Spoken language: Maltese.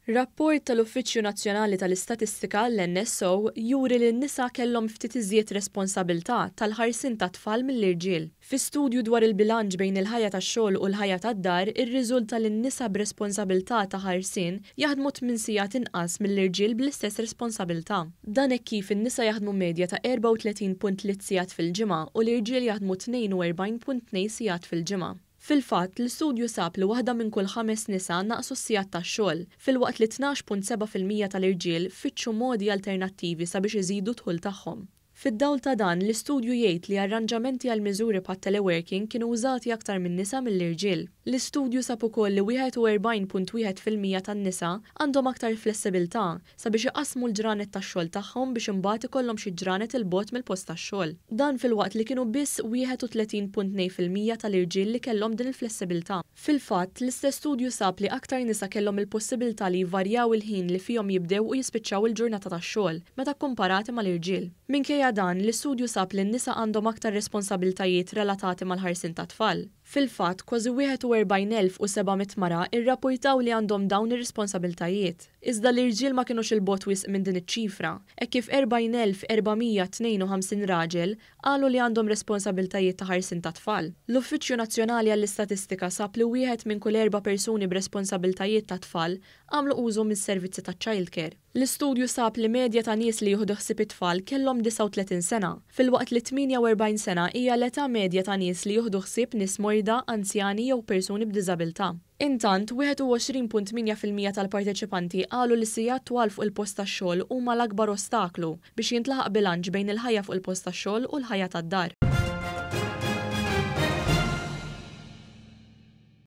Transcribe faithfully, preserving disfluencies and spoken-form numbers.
Rapport tal-Uffiċċju Nazzjonali tal-Istatistika, l-N S O, juri li n-nisa kellhom ftit iżjed responsabilità tal-ħarsien tat-tfal mill-irġiel. Fi studju dwar il-bilanċ bejn il-ħajja tax-xogħol u l-ħajja tad-dar irriżulta li n-nisa b'responsabilità ta' ħarsien jaħdmu tmien sigħat inqas mill-irġiel bl-istess responsabilità. Dan hekk kif in-nisa jaħdmu medja ta' erbgħa u tletin punt tliet sigħat fil-ġimgħa u l-irġiel jaħdmu tnejn u erbgħin punt tnejn sigħat fil-ġimgħa. Fil-fatt, l-istudju sab li waħda minn kull ħames nisa naqsu s-sigħat tax-xogħol, filwaqt li tnax punt sebgħa fil-mija tal-irġiel fittxu modi alternattivi sabiex iżidu d-dħul tagħhom. Fid-dawl ta' dan, l-istudju jgħid li arranġamenti għal miżuri bħat teleworking kienu użati aktar minn nisa mill-irġiel. L-istudju sab ukoll li wieħed u erbgħin punt wieħed fil-mija tan-nisa għandhom aktar flessibilità sabiex iqassmu l-ġranet tax-xogħol tagħhom biex imbagħad ikollhom xi ġranet 'il bogħod mill-post tax-xogħol. Dan filwaqt li kienu biss wieħed u tletin punt tnejn fil-mija tal-irġiel li kellhom din il-flessibilità. Fil-fatt, l-istess studju sab li aktar nisa kellhom il-possibilità li jvarjaw il-ħin li fihom jibdew u jispiċċaw il-ġurnata tax-xogħol meta komparati mal-irġiel. Minkejja dan, l-istudju sab li n-nisa għandhom aktar responsabiltajiet relatati mal-ħarsien ta' tfal. Fil-fatt, kważi wieħed u erbgħin elf u seba' mitt mara irrapportaw li għandhom dawn ir-responsabiltajiet. Iżda l-irġiel ma kienux 'il bogħod wisq minn din iċ-ċifra, hekk kif erbgħin elf erba' mija tnejn u ħamsin raġel qalu li għandhom responsabiltajiet ta' ħarsien ta' tfal. L-Uffiċċju Nazzjonali għall-Istatistika sab li wieħed minn kull erba' persuni b'responsabiltajiet ta' tfal għamlu użu mis-servizzi ta' childcare. L-istudju sab li medja ta' nies li jieħdu ħsieb it-tfal kellhom disgħa u tletin sena, filwaqt li tmienja u erbgħin sena hija l-età medja ta' nies li jieħdu ħsieb nies morda, anzjani jew persuni b'diżabilità. Intant, wieħed u għoxrin punt tmienja fil-mija tal-parteċipanti qalu li sigħat twal fuq il-post tax-xogħol huma l-akbar ostaklu biex jintlaħaq bilanċ bejn il-ħajja fuq il-post tax-xogħol u l-ħajja tad-dar.